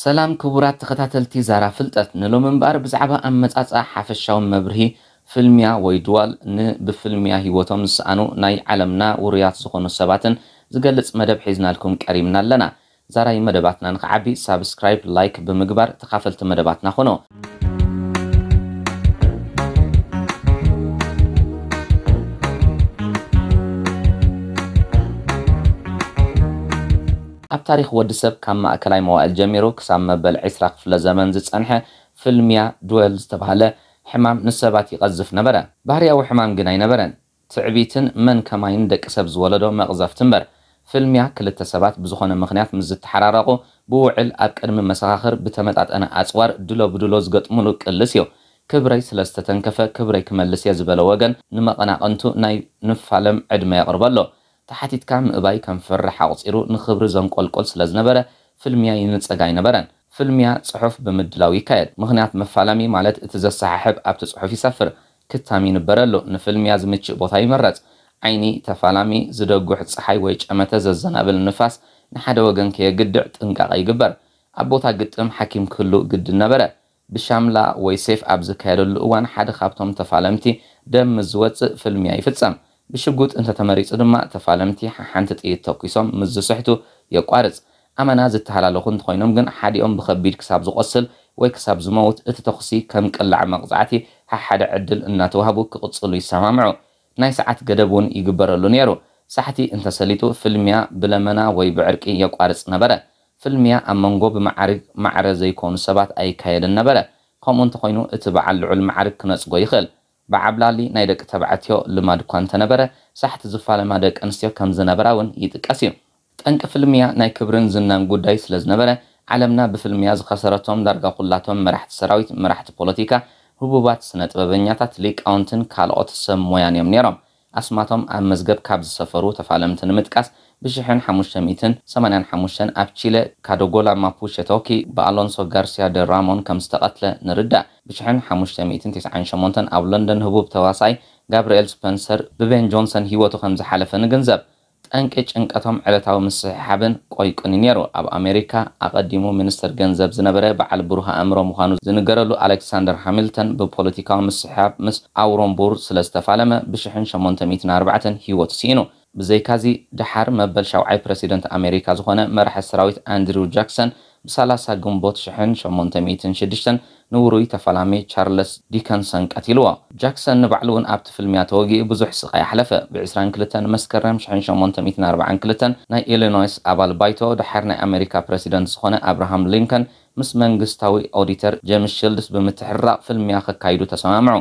ሰላም ክቡራት ተኸታተልቲ ዛራ ፍልጠት፣ ንሎሚ እምበኣር ብዛዕባ ኣመጻጽኣ ሓፈሻዊ መብርሂ ፍልሚያ ወይ ድዋል ንብፍልሚያ ህይወቶም ዝሰኣኑ ናይ ዓለምና ውሩያት ዝኾኑ ሰባትን ዝገልጽ መደብ ሒዝናልኩም ቀሪብና ኣለና። ዛራይ መደባትና ንኽዓቢ ሳብስክራይብ፣ ላይክ ብምግባር ተኻፈልቲ መደባትና ኾኖ። ኣብ ታሪኽ ወዲ ሰብ ካብ ማእከላይ መዋእል ጀሚሩ ክሳብ መበል ዕስራ ክፍለ ዘመን ዝጸንሐ ፍልሚያ፣ ዱዌል ዝተባህለ ሕማም ንሰባት ይቐዝፍ ነበረ። ባህርያዊ ሕማም ግን ኣይነበረን። ትዕቢትን መን ከማይን ደቂ ሰብ ዝወለዶ መቕዘፍቲ እምበር። ፍልሚያ ክልተ ሰባት ብዝኾነ ምኽንያት ምስ ዝተሓራረቑ ብውዕል ኣብ ቅድሚ መሰኻኽር ብተመጣጠነ ኣጽዋር ድሎ ብድሎ ዝገጥሙሉ ቅልስ እዩ። ክብረይ ስለ ዝተተንከፈ ክብረይ ክመልስ እየ ዝበለ ወገን ንመቐናቕንቱ ናይ ንፋለም ዕድመ የቕርበሎ። ተሓቲትካ ምእባይ ከም ፍርሕ ኣቑጺሩ ንኽብሪ ዘንቆልቆል ስለ ዝነበረ ፍልሚያ ይንጸግ ኣይነበረን። ፍልሚያ ጽሑፍ ብምድላው ይካየድ። ምኽንያት መፋለሚ ማለት እቲ ዘሰሓሕብ ኣብቲ ጽሑፍ ይሰፍር። ክታም ይንበረሉ። ንፍልሚያ ዝምችእ ቦታ ይምረጽ። ዓይኒ ተፋላሚ ዝደጉሕ ጸሓይ ወይ ጨመተ ዘዘናብል ንፋስ ንሓደ ወገን ከየግድዕ ጥንቃቐ ይግበር። ኣብ ቦታ ግጥም ሓኪም ክህሉ ግድን ነበረ። ብሻምላ ወይ ሴፍ ኣብ ዝካየደሉ እዋን ሓደ ካብቶም ተፋለምቲ ደም ምስ ዝወጽእ ፍልሚያ ይፍጸም። ብሽጉጥ እንተተመሪጹ ድማ ተፋለምቲ ሓሓንቲ ጥይት ተኩሶም ምስ ዝስሕቱ የቋርጽ። ኣመና ዝተሃላለኹ እንተኾይኖም ግን ሓዲኦም ብኸቢድ ክሳብ ዝቖስል ወይ ክሳብ ዝመውት እቲ ተኹሲ ከም ቅላዕ መቕጻዕቲ ሓሓደ ዕድል እናተዋህቡ ክቕጽሉ ይሰማምዑ። ናይ ሰዓት ገደብ እውን ይግበረሉ ነይሩ። ሳሕቲ እንተሰሊጡ ፍልሚያ ብለመና ወይ ብዕርቂ የቋርጽ ነበረ። ፍልሚያ ኣብ መንጎ ብመዓርግ ማዕረ ዘይኮኑ ሰባት ኣይካየድን ነበረ። ከምኡ እንተኾይኑ እቲ በዓል ልዑል መዓርግ ክነጽጎ ይኽእል። ብዓብላሊ ናይ ደቂ ተባዕትዮ ልማድ እኳ እንተነበረ ሳሕቲ ዝፋለማ ደቂ ኣንስትዮ ከም ዝነበራ እውን ይጥቀስ እዩ። ጠንቂ ፍልሚያ ናይ ክብርን ዝናን ጉዳይ ስለ ዝነበረ ዓለምና ብፍልሚያ ዝኸሰረቶም ዳርጋ ኩላቶም መራሕቲ ሰራዊት፣ መራሕቲ ፖለቲካ፣ ህቡባት ስነ ጥበበኛታት፣ ሊቃውንትን ካልኦት ሰብ ሞያን እዮም ነይሮም። ኣስማቶም ኣብ መዝገብ ካብ ዝሰፈሩ ተፋለምቲ ንምጥቃስ፣ ብ ሽሕን ሓሙሽተ ሚእትን ሰማንያን ሓሙሽተን ኣብ ቺለ ካዶጎላ ማፑቸ ቶኪ ብኣሎንሶ ጋርሲያ ደ ራሞን ከም ዝተቐትለ ንርዳእ። ብ ሽሕን ሓሙሽተ ሚእትን ተስዓን ሸሞንተን ኣብ ሎንደን ህቡብ ተዋሳኣይ ጋብርኤል ስፐንሰር ብቤን ጆንሰን ህይወቱ ከም ዝሓለፈ ንግንዘብ። ጠንቂ ጭንቀቶም ዕለታዊ ምስሕሓብን ቆይቁን እዩ ነይሩ። ኣብ ኣሜሪካ ኣቐዲሙ ሚኒስተር ገንዘብ ዝነበረ በዓል ብሩህ ኣእምሮ ምዃኑ ዝንገረሉ ኣሌክሳንደር ሃሚልተን ብፖለቲካዊ ምስሕሓብ ምስ ኣውሮምቡር ስለ ዝተፋለመ ብ ሽሕን ሸሞንተ ሚእትን ኣርባዕተን ህይወቱ ስኢኑ። ብዘይካዚ፣ ደሓር መበል ሻውዓይ ፕረሲደንት ኣሜሪካ ዝኾነ መራሒ ሰራዊት ኣንድሪው ጃክሰን ብ ሰላሳ ግንቦት ሽሕን ሸሞንተ ሚእትን ሽዱሽተን ንውሩይ ተፋላሚ ቻርለስ ዲከንሰን ቀቲልዎ። ጃክሰን ንባዕሉ እውን ኣብቲ ፍልሚያ ተወጊኡ ብዙሕ ስቓይ ኣሕለፈ። ብ ዕስራን ክልተን መስከረም ሽሕን ሸሞንተ ሚእትን ኣርባዓን ክልተን ናይ ኢሊኖይስ ኣባል ባይቶ፣ ደሓር ናይ ኣሜሪካ ፕረሲደንት ዝኾነ ኣብርሃም ሊንከን ምስ መንግስታዊ ኦዲተር ጄምስ ሽልድስ ብምትሕርራቕ ፍልሚያ ከካይዱ ተሰማምዑ።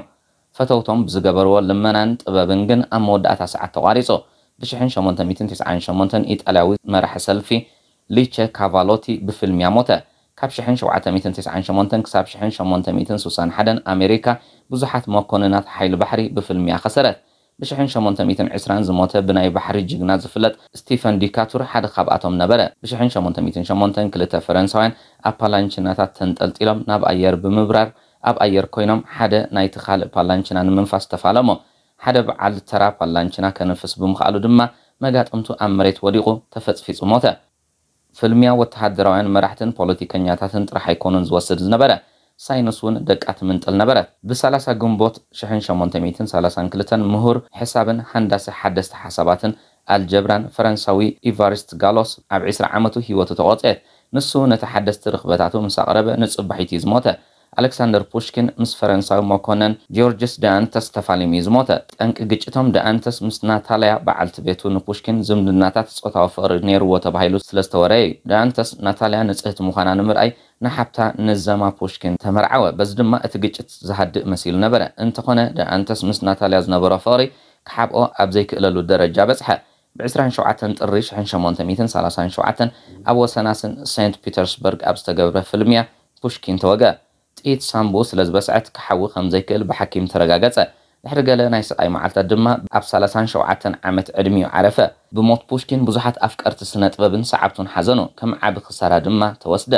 ፈተውቶም ብዝገበርዎ ልመናን ጥበብን ግን ኣብ መወዳእታ ሰዓት ተቋሪጹ። ብ ሽሕን ሸሞንተ ሚእትን ተስዓን ሸሞንተን ኢጣልያዊ መራሒ ሰልፊ ሊቸ ካቫሎቲ ብፍልሚያ ሞተ። ካብ ሽሕን ሸውዓተ ሚእትን ተስዓን ሸሞንተን ክሳብ ሽሕን ሸሞንተ ሚእትን ስሳን ሓደን ኣሜሪካ ብዙሓት መኮንናት ሓይሊ ባሕሪ ብፍልሚያ ከሰረት። ብ ሽሕን ሸሞንተ ሚእትን ዕስራን ዝሞተ ብናይ ባሕሪ ጅግና ዝፍለጥ ስቲፈን ዲካቱር ሓደ ካብኣቶም ነበረ። ብ ሽሕን ሸሞንተ ሚእትን ሸሞንተን ክልተ ፈረንሳውያን ኣብ ፓላንችናታት ተንጠልጢሎም ናብ ኣየር ብምብራር ኣብ ኣየር ኮይኖም ሓደ ናይቲ ካልእ ፓላንችና ንምንፋስ ተፋለሞ። ሓደ በዓል ተራ ፓላንችና ከንፍስ ብምኽኣሉ ድማ መጋጥምቱ ኣብ መሬት ወዲቑ ተፈጽፊጹ ሞተ። ፍልሚያ ወተሃደራውያን መራሕትን ፖለቲከኛታትን ጥራሕ ኣይኮኑን ዝወስድ ዝነበረ፣ ሳይንስ እውን ደቃ ትምንጥል ነበረት። ብ ሰላሳ ግንቦት ሽሕን ሸሞንተ ሚእትን ሰላሳን ክልተን ምሁር ሕሳብን ሃንዳሲ ሓደስቲ ሓሳባትን ኣልጀብራን ፈረንሳዊ ኢቫሪስት ጋሎስ ኣብ ዕስራ ዓመቱ ህይወቱ ተቖጽየት። ንሱ ነቲ ሓደስቲ ርኽበታቱ ምስ ኣቕረበ ንጽባሒቱ እዩ ዝሞተ። ኣሌክሳንደር ፑሽኪን ምስ ፈረንሳዊ መኮነን ጂዮርጅስ ደኣንተስ ተፋሊሙ እዩ ዝሞተ። ጠንቂ ግጭቶም ደኣንተስ ምስ ናታልያ በዓልቲ ቤቱ ንፑሽኪን ዝምድናታት ጾታዊ ፍቕሪ ነይርዎ ተባሂሉ ስለ ዝተወረየ እዩ። ደኣንተስ ናታልያ ንጽህቲ ምዃና ንምርኣይ ንሓብታ ንዘማ ፑሽኪን ተመርዓወ። በዚ ድማ እቲ ግጭት ዝሃድእ መሲሉ ነበረ። እንተኾነ ደኣንተስ ምስ ናታልያ ዝነበሮ ፍቕሪ ክሓብኦ ኣብ ዘይክእለሉ ደረጃ በጽሐ። ብ ዕስራን ሸውዓተን ጥሪ ሽሕን ሸሞንተ ሚእትን ሰላሳን ሸውዓተን ኣብ ወሰናስን ሴንት ፒተርስበርግ ኣብ ዝተገብረ ፍልሚያ ፑሽኪን ተወግአ። ጥይት ሳምቡ ስለ ዝበስዐት ክሓዊ ከም ዘይክእል ብሓኪም ተረጋገጸ። ድሕሪ ገለ ናይ ስቓይ መዓልታት ድማ ኣብ ሰላሳን ሸውዓተን ዓመት ዕድሚኡ ዓረፈ። ብሞት ፑሽኪን ብዙሓት ኣፍቀርቲ ስነ ጥበብን ሰዓብቱን ሓዘኑ፣ ከም ዓቢ ክሳራ ድማ ተወስደ።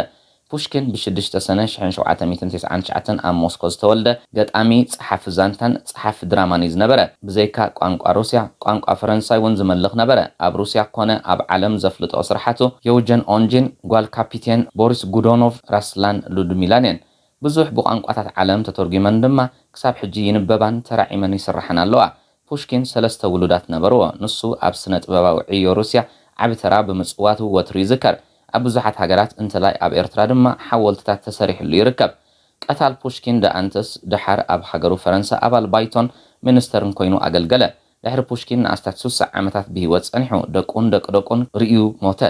ፑሽኪን ብ ሽዱሽተ ሰነ ሽሕን ሸውዓተ ሚእትን ተስዓን ትሽዓተን ኣብ ሞስኮ ዝተወልደ ገጣሚ፣ ጸሓፊ ዛንታን ጸሓፊ ድራማን እዩ ዝነበረ። ብዘይካ ቋንቋ ሩስያ፣ ቋንቋ ፈረንሳይ እውን ዝመልኽ ነበረ። ኣብ ሩስያ ኮነ ኣብ ዓለም ዘፍልጦ ስርሓቱ የውጀን ኦንጂን፣ ጓል ካፒቴን ቦሪስ ጉዶኖቭ፣ ራስላን ሉድሚላን እየን። ብዙሕ ብቋንቋታት ዓለም ተተርጒመን ድማ ክሳብ ሕጂ ይንበባን ተራዒመን ይስርሓን ኣለዋ። ፑሽኪን ሰለስተ ውሉዳት ነበርዎ። ንሱ ኣብ ስነ ጥበባዊ ዕዮ ሩስያ ዓቢ ተራ ብምጽዋቱ ወትሩ ይዝከር። ኣብ ብዙሓት ሃገራት፣ እንተላይ ኣብ ኤርትራ ድማ ሓወልትታት ተሰሪሕሉ ይርከብ። ቀታል ፑሽኪን ደኣንተስ ደሓር ኣብ ሃገሩ ፈረንሳ ኣባል ባይቶን ሚኒስተርን ኮይኑ ኣገልገለ። ድሕሪ ፑሽኪን ንኣስታት ስሳ ዓመታት ብህይወት ጸኒሑ፣ ደቁን ደቂ ደቁን ርእዩ ሞተ።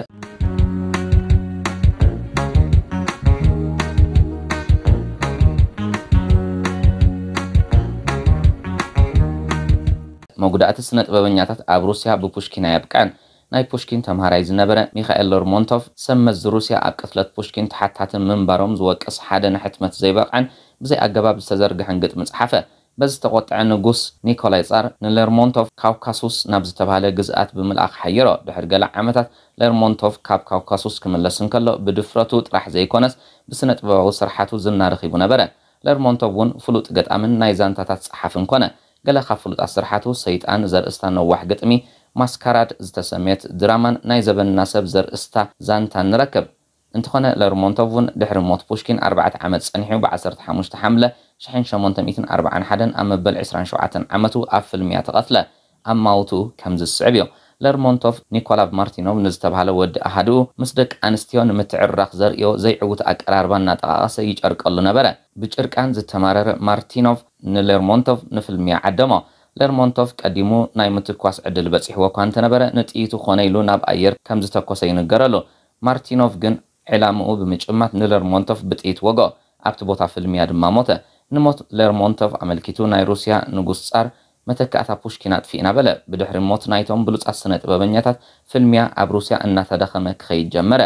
መጉዳእቲ ስነ ጥበበኛታት ኣብ ሩስያ ብፑሽኪን ኣየብቅዐን። ናይ ፑሽኪን ተምሃራይ ዝነበረ ሚኻኤል ሌርሞንቶቭ፣ ሰብ መዚ ሩስያ ኣብ ቅትለት ፑሽኪን ተሓታቲ ምንባሮም ዝወቅስ ሓደ ንሕትመት ዘይበቕዐን ብዘይ ኣገባብ ዝተዘርግሐን ግጥሚ ጸሓፈ። በዚ ዝተቖጥዐ ንጉስ ኒኮላይ ጻር ንሌርሞንቶቭ ካውካሱስ ናብ ዝተባህለ ግዝኣት ብምልኣኽ ሓየሮ። ድሕሪ ገለ ዓመታት ሌርሞንቶቭ ካብ ካውካሱስ ክምለስ እንከሎ ብድፍረቱ ጥራሕ ዘይኮነስ ብስነ ጥበባዊ ስርሓቱ ዝና ረኺቡ ነበረ። ሌርሞንቶቭ እውን ፍሉጥ ገጣምን ናይ ዛንታታት ጸሓፍን ኮነ። ገለ ካብ ፍሉጣት ስርሓቱ ሰይጣን ዘርእስታ ነዋሕ ግጥሚ፣ ማስካራድ ዝተሰምየት ድራማን ናይ ዘበንና ሰብ ዘርእስታ ዛንታን ንረክብ። እንተኾነ ሌርሞንቶቭ እውን ድሕሪ ሞት ፑሽኪን ኣርባዕተ ዓመት ጸኒሑ ብ ዓሰርተ ሓሙሽተ ሓምለ ሽሕን ሸሞንተ ሚእትን ኣርባዓን ሓደን ኣብ መበል ዕስራን ሸውዓተን ዓመቱ ኣብ ፍልምያ ተቐትለ። ኣማውትኡ ከምዚ ዝስዕብ እዩ። ሌርሞንቶቭ ኒኮላ ማርቲኖቭ ንዝተባህለ ወዲ ኣሃድኡ ምስ ደቂ ኣንስትዮ ንምትዕርራኽ ዘርእዮ ዘይዕዉት ኣቀራርባ እናጠቓቐሰ ይጨርቀሉ ነበረ። ብጭርቃን ዝተማረረ ማርቲኖቭ ንሌርሞንቶቭ ንፍልምያ ዓደሞ። ሌርሞንቶቭ ቀዲሙ ናይ ምትኳስ ዕድል በጺሕዎ እኳ እንተነበረ፣ ንጥይቱ ኮነ ኢሉ ናብ ኣየር ከም ዝተኮሰ ይንገረሉ። ማርቲኖቭ ግን ዕላምኡ ብምጭማት ንሌርሞንቶቭ ብጥይት ወግኦ። ኣብቲ ቦታ ፍልምያ ድማ ሞተ። ንሞት ሌርሞንቶቭ ኣመልኪቱ ናይ ሩስያ ንጉስ ጻር መተካእታ ፑሽኪን ኣጥፊእና በለ። ብድሕሪ ሞት ናይቶም ብሉጻት ስነ ጥበበኛታት ፍልምያ ኣብ ሩስያ እናተዳኸመ ክኸይድ ጀመረ።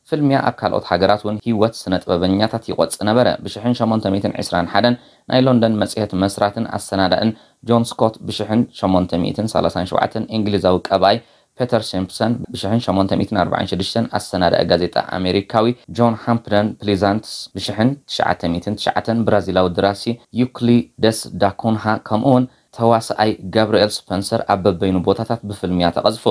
ፍልምያ ኣብ ካልኦት ሃገራት እውን ህይወት ስነ ጥበበኛታት ይቆጽ ነበረ። ብ ሽሕን ሸሞንተ ሚእትን ዕስራን ሓደን ናይ ሎንደን መጽሔት መስራትን ኣሰናዳእን ጆን ስኮት፣ ብ ሽሕን ሸሞንተ ሚእትን ሰላሳን ሸውዓተን እንግሊዛዊ ቀባይ ፔተር ሲምፕሰን፣ ብ ሽሕን ሸሞንተ ሚእትን ኣርባዓን ሽዱሽተን ኣሰናዳኢ ጋዜጣ ኣሜሪካዊ ጆን ሃምፕደን ፕሊዛንትስ፣ ብ ሽሕን ትሽዓተ ሚእትን ትሽዓተን ብራዚላዊ ደራሲ ዩክሊደስ ዳኩንሃ፣ ከምኡውን ተዋስኣይ ጋብርኤል ስፐንሰር ኣብ በበይኑ ቦታታት ብፍልምያ ተቐዝፉ።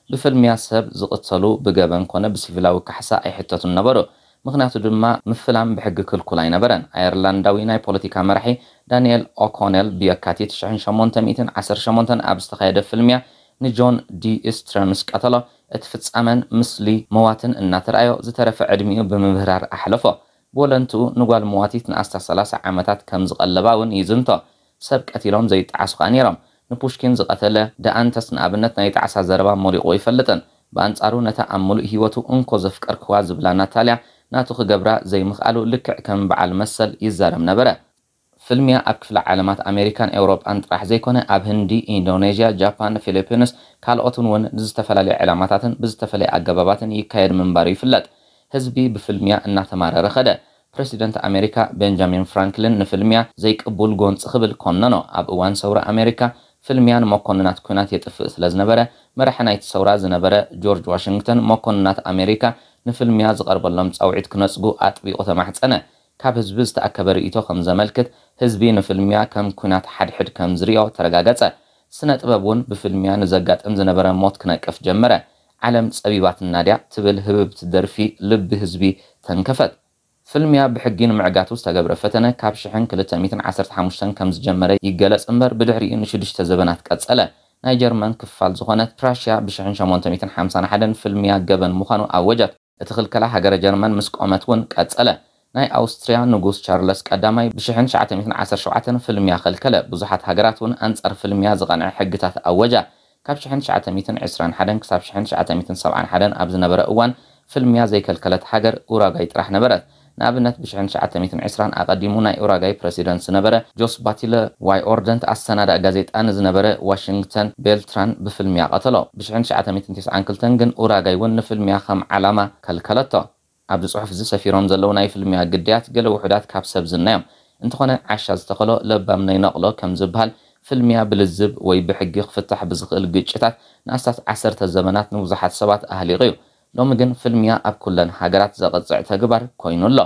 ብፍልምያ ሰብ ዝቕተሉ ብገበን ኮነ ብሲቪላዊ ካሕሳ ኣይሕተቱን ነበሩ። ምኽንያቱ ድማ ምፍላም ብሕጊ ክልኩል ኣይነበረን። ኣየርላንዳዊ ናይ ፖለቲካ መራሒ ዳንኤል ኦኮኔል ብየካቲት ሽሕን ሸሞንተ ሚእትን ዓሰርተ ሸሞንተን ኣብ ዝተኻየደ ፍልምያ ንጆን ዲ ስትረ ምስ ቀተሎ፣ እቲ ፍጻመን ምስሊ መዋትን እናተራእዮ ዝተረፈ ዕድሚኡ ብምህራር ኣሕለፎ። ብወለንትኡ ንጓል መዋቲት ንኣስታት ሰላሳ ዓመታት ከም ዝቐለባ እውን ይዝንቶ። ሰብ ቀቲሎም ዘይጠዓሱ ከኣ ነይሮም። ንፑሽኪን ዝቐተለ ደኣንተስ ንኣብነት ናይ ጣዕሳ ዘረባ ሞሊቑ ኣይፈልጥን። ብኣንጻሩ ነታ ኣብ ምሉእ ህይወቱ እንኮ ዘፍቀርክዋ ዝብላ ናታልያ ናቱ ክገብራ ዘይምኽኣሉ ልክዕ ከም በዓል መሰል ይዛረብ ነበረ። ፍልምያ ኣብ ክፍለ ዓለማት ኣሜሪካን ኤውሮጳን ጥራሕ ዘይኮነ ኣብ ህንዲ፣ ኢንዶኔዥያ፣ ጃፓን፣ ፊሊፒንስ ካልኦትን እውን ንዝተፈላለዩ ዕላማታትን ብዝተፈለየ ኣገባባትን ይካየድ ምንባሩ ይፍለጥ። ህዝቢ ብፍልምያ እናተማረረ ኸደ። ፕረሲደንት ኣሜሪካ ቤንጃሚን ፍራንክሊን ንፍልምያ ዘይቅቡል ጎንጺ ክብል ኮነኖ። ኣብ እዋን ሰውራ ኣሜሪካ ፍልምያ ንመኮንናት ኲናት የጥፍእ ስለ ዝነበረ፣ መራሒ ናይቲ ሰውራ ዝነበረ ጆርጅ ዋሽንግተን መኮንናት ኣሜሪካ ንፍልምያ ዝቐርበሎም ጻውዒት ክነጽጉ ኣጥቢቑ ተማሕጸነ። ካብ ህዝቢ ዝተኣከበ ርእይቶ ከም ዘመልክት፣ ህዝቢ ንፍልምያ ከም ኲናት ሓድሕድ ከም ዝርእዮ ተረጋገጸ። ስነ ጥበብ እውን ብፍልምያ ንዘጋጥም ዝነበረ ሞት ክነቅፍ ጀመረ። ዓለም ጸቢባትና ድያ ትብል ህብብቲ ደርፊ ልቢ ህዝቢ ተንከፈት። ፍልምያ ብሕጊ ንምዕጋቱ ዝተገብረ ፈተነ ካብ ሽሕን ክልተ ሚእትን ዓሰርተ ሓሙሽተን ከም ዝጀመረ ይገለጽ እምበር፣ ብድሕሪኡ ንሽዱሽተ ዘበናት ቀጸለ። ናይ ጀርመን ክፋል ዝኾነት ፕራሽያ ብ ሽሕን ሸሞንተ ሚእትን ሓምሳን ሓደን ፍልምያ ገበን ምዃኑ ኣወጀት። እቲ ክልከላ ሃገረ ጀርመን ምስ ቆመት እውን ቀጸለ። ናይ ኣውስትርያ ንጉስ ቻርለስ ቀዳማይ ብ ሽሕን ትሽዓተ ሚእትን ዓሰርተ ሸውዓተን ፍልምያ ከልከለ። ብዙሓት ሃገራት እውን ኣንጻር ፍልምያ ዝቐንዐ ሕግታት ኣወጃ። ካብ ሽሕን ትሽዓተ ሚእትን ዕስራን ሓደን ክሳብ ሽሕን ትሽዓተ ሚእትን ሰብዓን ሓደን ኣብ ዝነበረ እዋን፣ ፍልምያ ዘይከልከለት ሃገር ኡራጋይ ጥራሕ ነበረት። ንኣብነት፣ ብ ሽሕን ትሽዓተ ሚእትን ዕስራን ኣቐዲሙ ናይ ኡራጋይ ፕረሲደንት ዝነበረ ጆስ ባቲለ ዋይ ኦርደንት ኣሰናዳኢ ጋዜጣ ንዝነበረ ዋሽንግተን ቤልትራን ብፍልምያ ቀተሎ። ብ ሽሕን ትሽዓተ ሚእትን ተስዓን ክልተን ግን ኡራጋይ እውን ንፍልምያ ከም ዓላማ ከልከለቶ። ኣብዚ ጽሑፍ እዚ ሰፊሮም ዘለዉ ናይ ፍልምያ ግዳያት ገለ ውሑዳት ካብ ሰብ ዝና እዮም። እንተኾነ፣ ዓሻ ዝተኸሎ ለባም ነይነቕሎ ከም ዝበሃል፣ ፍልምያ ብልዝብ ወይ ብሕጊ ክፍታሕ ብዝኽእል ግጭታት ንኣስታት ዓሰርተ ዘመናት ንብዙሓት ሰባት ኣህሊቑ እዩ። ሎሚ ግን ፍልምያ ኣብ ኩለን ሃገራት ዘቕጽዕ ተግባር ኮይኑ ኣሎ።